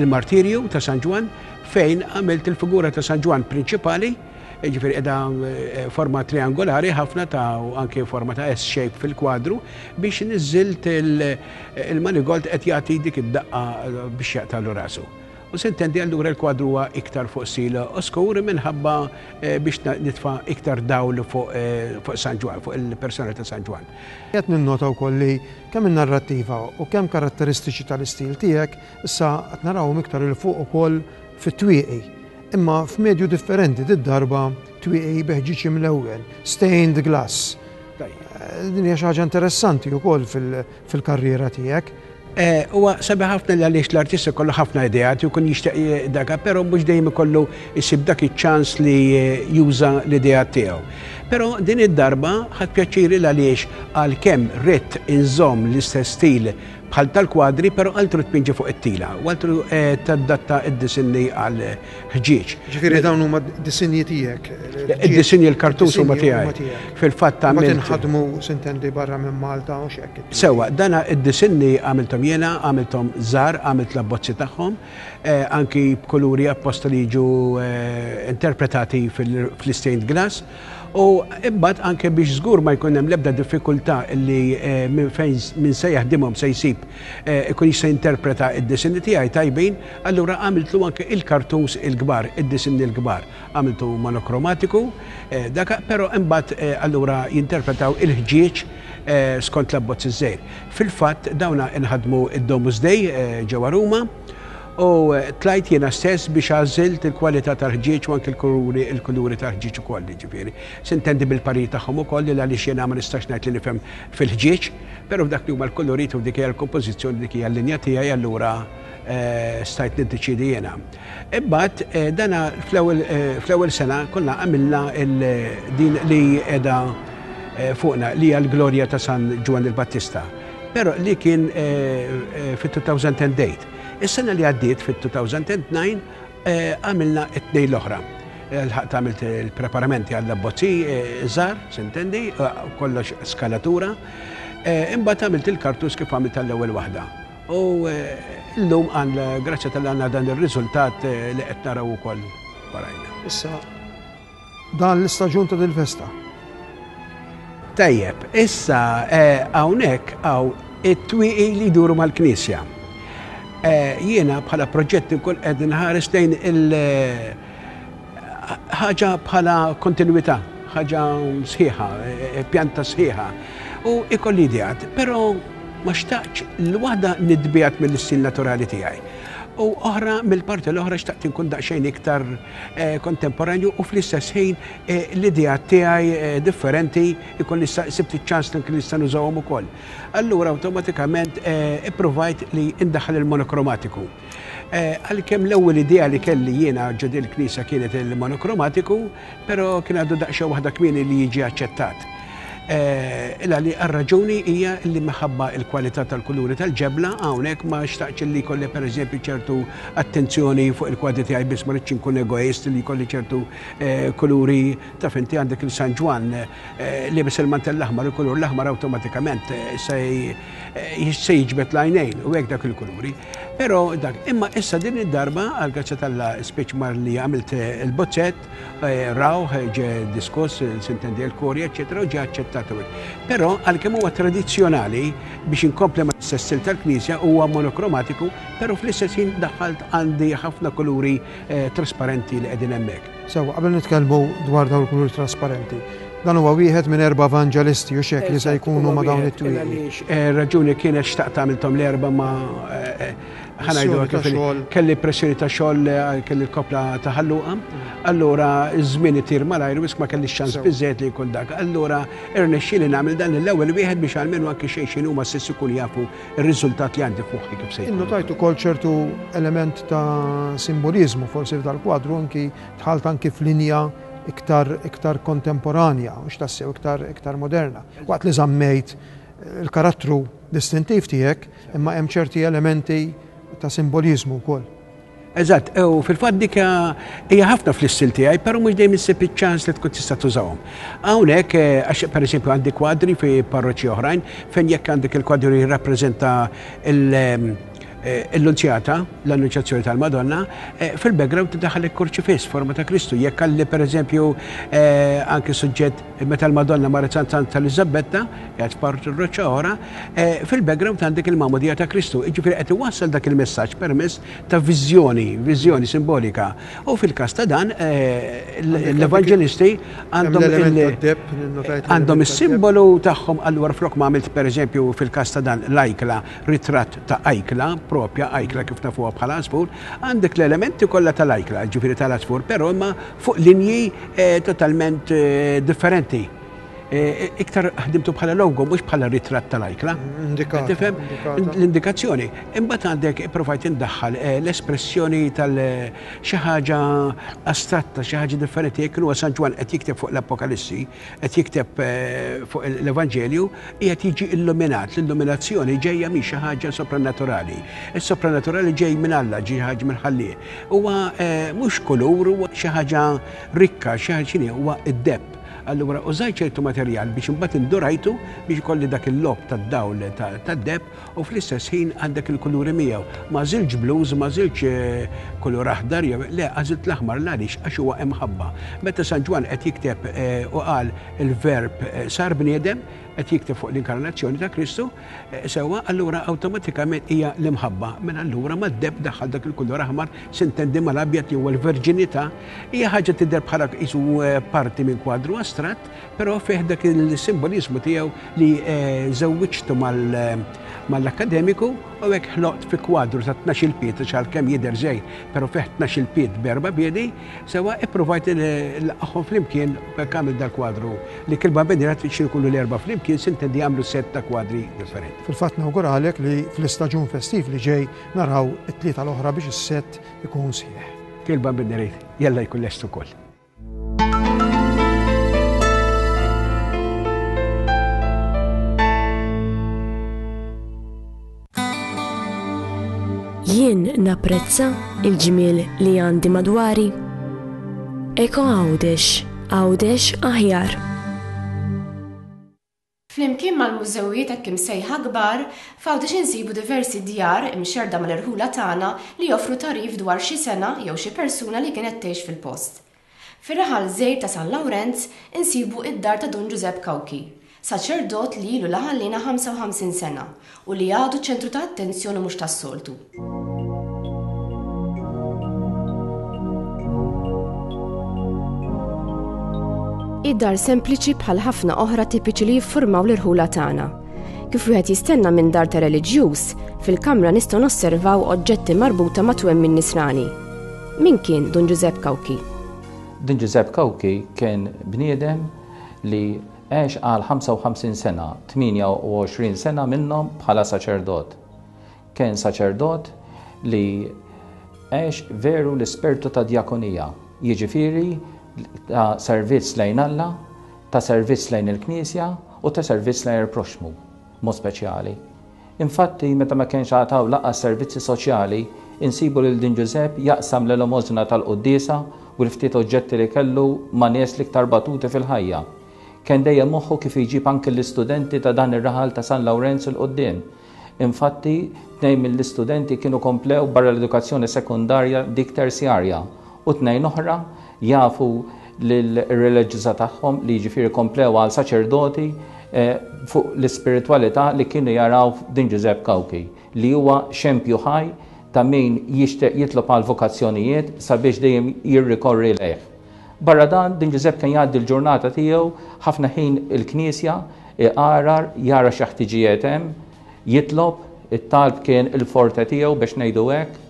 il-martirju ta' San Ġwann fejn għamilt il-figura ta' San Ġwann prinċipali, jiġifieri qiegħda eh, forma triangolari ħafna ta' u anke forma ta' S-shape fil-kwadru biex niżilt il-manigold qed jagħti dik id-daqqa eh, biex jaqtalu rasu. U sintendi allura l-kwadru huwa iktar fuq stil oskur minħabba eh, biex nitfa' iktar dawl fuq eh, San Ġwann, fuq il-persona ta' San Ġwann. Qed ninnota wkoll li kemm in-narrattiva u kemm karatteristiċi tal-istil tiegħek issa qed narawhom iktar 'il fuq ukoll fit-twieqi. Imma f'medju differenti did-darba twieqi bi ħġieġ imlewwen, stained glass. Din hija xi ħaġa interessanti wkoll fil-karriera tiegħek. Eh, huwa sabiħ ħafna li għaliex l-artist ikollu ħafna ideat u jkun jixtieq daka, però mhux dejjem ikollu jsib dak iċ-ċans li juża l-ideat tiegħu. Però din id-darba ħadt pjaċir il għaliex għalkemm ridt inżomm l-istess stil bħal tal-kwadri, però altru tpinġi fuq it-tila u altru eh, tadatta id-disinni għal ħġieġ. Ġifieri dawn huma disinji tiegħek. Id-disinji l-kartus huma tiegħi. Fil-fatt għamilt. Tinħadmu sintendi barra minn Malta u x'hekk. Sewwa, dana id-disinni għamilthom jiena, għamilthom żgħar, għamilt l-abbozzi tagħhom, eh, anki b'kuluri apposta li jiġu eh, interpretati fl-stained glass. U imbagħad anke biex żgur ma jkun hemm l-ebda diffikultà li eh, minn fejn min se jaħdimhom se jsib eh, ikun jista' jinterpreta id-disinni tiegħi tajbin, allura għamiltlu anke il-kartuns il-kbar, id-disinni l-kbar. Għamiltu monokromatiku, eh, daka, però imbagħad allura jinterpretaw il-ħġieġ skont l-abbozz iż-żejr. Fil-fatt dawna inħadmu id-Domus Dei ġewwa Ruma, U tlajt jiena stess biex għażilt il-kwalità tal-ħġieġ u anke l-kuluri il-kuluri tal-ħġieġ ukoll, jiġifieri. Sintendi bil-parir tagħhom ukoll li għaliex jiena ma nistax ngħid li nifhem fil-ħġieġ, però f'dak li huma l-kulurit u dik hija l-kompożizzjoni dik hija l-linja tiegħi allura stajt niddeċiedi jiena. Imbagħad dana fl-ewwel fl-ewwel sena konna għamilna din li qiegħda fuqna li hija l-glorja ta' San Ġwann il-Battista, però li kien fit-2008. Is-sena li għaddiet fit-2009 eh, għamilna it-tnejn l-oħra. Eh, lħaqt għamilt il-preparamenti għall-abbozzi eh, żgħar, sintendi, kollox skalatura. Imbagħad għamilt il-kartus kif għamilt għall-ewwel waħda. U llum għal grazzja tal-għandna dan ir-riżultat li qed naraw ukoll warajna. Issa Dan l-istaġun ta' dil-festa. Tajjeb, issa eh, hawnhekk hawn it-twieqi li jduru mal-knisja. Eh, jiena bħala proġett inkun qed nħares lejn il- eh, ħaġa bħala kontinuità, ħaġa sħiħa, pjanta sħiħa. U ikolli ideat, però ma xtaqx l-waħda nitbiegħed mill-istil naturali tiegħi. U oħra mill-parti l-oħra xtaqt inkun daqsxejn iktar eh, kontemporanju u fl-istess ħin eh, l-idea tiegħi eh, differenti ikun nista' sibt iċ-ċans li nkun nista' nużawhom ukoll. Allura awtomatikament ippruvajt li indaħħal il-monokromatiku. Għalkemm l-ewwel idea li kelli jiena ġo din il-knisja kienet il-monokromatiku, però kien għadu daqsxejn waħda kmieni li jiġi aċċettat. Eh, illa li għar-raġuni hija li minħabba il-kwalità tal-kuluri tal-ġebla hawnhekk ma xtaqx li jkolli pereżempju ċertu attenzjoni fuq il-kwadri tiegħi biss ma rridx inkun egoist li jkolli ċertu eh, kuluri taf inti għandek il-San Ġwann eh, liebes il-mantell l-aħmar, il-kulur l-aħmar awtomatikament se jiġbed l-għajnejn u hekk dak il-kuluri. Però dak, imma issa din id-darba għal grazzja tal speċ mar li għamilt il-bozzett Rawh, ġie diskuss, sintendi l-kurja, eċċetera, u ġie aċċettat u hekk. Però għalkemm huwa tradizzjonali biex inkompli ma' l-istess stil tal-knisja huwa monokromatiku, però fl-istess ħin daħħalt għandi ħafna kuluri trasparenti li qegħdin hemmhekk. Sewwa, qabel nitkellmu dwar dawn il-kuluri trasparenti, dan huwa wieħed minn erba' evanġelisti u x'hekk li se jkunu ma' dawn it-twieqi. Għaliex raġuni kienet xtaqt għamilthom l-erba' ma' Ħanajdu kif kelli pressjoni ta' xogħol eh, kelli l-kopla ta' ħalluqa, allura iż-żmien itir malajr wisq ma kellix ċans biżejjed li jkun dak. Allura irnexxieli nagħmel dan l-ewwel wieħed biex għalmenu anke xejn x'inhu ma stess ikun jafu r-riżultat li għandi f'moħħi kif se jkun. Innotajt ukoll ċertu element ta' simboliżmu forsi f'dal-kwadru anki dħalt anki f'linja iktar iktar kontemporanja, mhux tassew iktar iktar moderna. Waqt li żammejt il-karattru distintiv tiegħek, imma hemm ċerti elementi ta' simboliżmu wkoll. Eżatt, u fil-fatt dik hija ħafna fl-istil tiegħi, però mhux dejjem issib iċ-ċans li tkun tista' tużahom. Hawnhekk, eh, għax pereżempju għandi kwadri fi parroċċi oħrajn fejn jekk għandek il-kwadru jirrappreżenta il- eh, Il-Lunzjata, l-Annuċjazzjoni tal-Madonna, fil-background tiddaħħal il-kurċifiss forma ta' Kristu. Jekk għalli pereżempju anke suġġett meta l-Madonna marret Sant Santa Eliżabetta, qiegħed f'parti roċċa oħra, fil-background għandek il-magħmudija ta' Kristu. Jiġifieri qed iwassal dak il-messaġġ permezz ta' viżjoni, viżjoni simbolika. U fil-każ ta' dan l-evanġelisti għandhom għandhom is-simbolu tagħhom allura flok ma għamilt pereżempju fil-każ ta' dan l-ajkla ritratt ta' ajkla, propja ajkla kif nafuha bħala għasfur, għandek l-elementi kollha tal-ajkla, ġifieri tal-għasfur, però imma fuq linji eh, totalment eh, differenti. Eh, iktar ħdimtu bħala logo, mhux bħala ritratt tal-ajkla. Tifhem? L-indikazzjoni. Imbagħad għandek provajt indaħħal l-espressjoni tal xi ħaġa astratta, xi ħaġa differenti. Jekk huwa San Ġwann qed jikteb fuq l-Apokalissi, qed jikteb fuq l-Evanġelju, qiegħed jiġi illuminat. L-illuminazzjoni ġejja minn xi ħaġa sopranaturali. Is-sopranaturali ġej minn Alla, ġej ħaġa mill-Ħallieq. Huwa mhux kulur, huwa xi ħaġa rikka, xi ħaġa x'inhi, huwa d-deheb. Allura użajt ċertu materjal biex imbagħad indurajtu biex ikolli dak il-logħob tad-dawl tad-deheb u fl-istess ħin għandek il-kuluri miegħu. Ma għażiltx blues, ma għażiltx kulur aħdar jew le, għażilt l-aħmar l-għaliex għax huwa imħabba. Meta San Ġwann qed jikteb u qal il-verb sar bniedem, qed jikteb fuq l-inkarnazzjoni ta' Kristu, sewwa allura awtomatikament hija l-imħabba. Mela allura mad-deheb daħħal dak il-kulur aħmar, sintendi mal-abjad li huwa l-verġinità, hija ħaġa tidher bħala qisu parti minn kwadru astratt, Però fih dak il-simboliżmu tiegħu li żewwiġtu mal-akkademiku u hekk ħloqt fi kwadru ta' 12-il pied, għax għalkemm jidher żgħir, però fih 12-il pied b'erba' piedi, sewwa ippruvajt nlaqqagħhom flimkien u hekk għamilt dal-kwadru li kull bambinera trid xi jkunu l-erba' flimkien sintendi jagħmlu sett ta' kwadri differenti. Fil-fatt nawguralek li fl-istaġun festiv li ġej naraw it-tlieta l-oħra biex is-sett ikun sħiħ. Kull bambinera jalla jkun lest ukoll. Jien napprezza il-ġmiel li għandi madwari. Eko Għawdex, Għawdex aħjar. Flimkien mal-mużewijiet hekk imsejħa kbar, f'Għawdex insibu diversi djar imxerrda mal-irħula tagħna li joffru tagħrif dwar xi sengħa jew xi persuna li kienet tgħix fil-post. Fir-raħal żgħir ta' San Lawrenz insibu id-dar ta' Dun Ġużepp Cauchi, saċerdot li ilu la ħalliena 55 sena u li għadu ċentru ta' attenzjoni mhux tas-soltu. Hi dar sempliċi bħal ħafna oħra tipiċi li jiffurmaw l-irħula tagħna. Kif wieħed jistenna minn dar ta' reliġjuż, fil-kamra nistgħu nosservaw oġġetti marbuta ma' twemmin nisrani. Min kien Dun Ġużepp Cauchi? Dun Ġużepp Cauchi kien bniedem li għex għal 55 sena, 28 sena minnhom bħala saċerdot. Kien saċerdot li għex veru l-ispirtu ta' djakonija, jiġifieri ta' servizz lejn Alla, ta' servizz lejn il-Knisja u ta' servizz lejn il-proxxmu, b'mod speċjali. Infatti, meta ma kienx għad hawn lanqas servizzi soċjali, insibu lil Dun Ġużepp jaqsam l-elemosina tal-quddiesa u l-ftit oġġetti li kellu ma' nies l-iktar batuti fil-ħajja. Kien dejjem moħħu kif jġib anki l-istudenti ta' dan ir-raħal ta' San Lawrenz 'il quddiem. Infatti, tnejn mill-istudenti kienu komplew barra l-edukazzjoni sekondarja dik terzjarja u tnejn oħra jafu lir-reliġjuża tagħhom li jiġifieri komplew għal saċerdoti fuq l-ispiritwalità li kienu jaraw f'Dun Ġużepp Cauchi li huwa xempju ħaj ta' min jixtieq jitlob għal vokazzjonijiet sabiex dejjem jirrikorri lejh. Barra dan, Dun Ġużepp kien jgħaddi l-ġurnata tiegħu ħafna ħin il-knisja, iqarar, jara xi ħtiġijiet hemm, jitlob, it-talb kien il-forte tiegħu biex ngħidu hekk.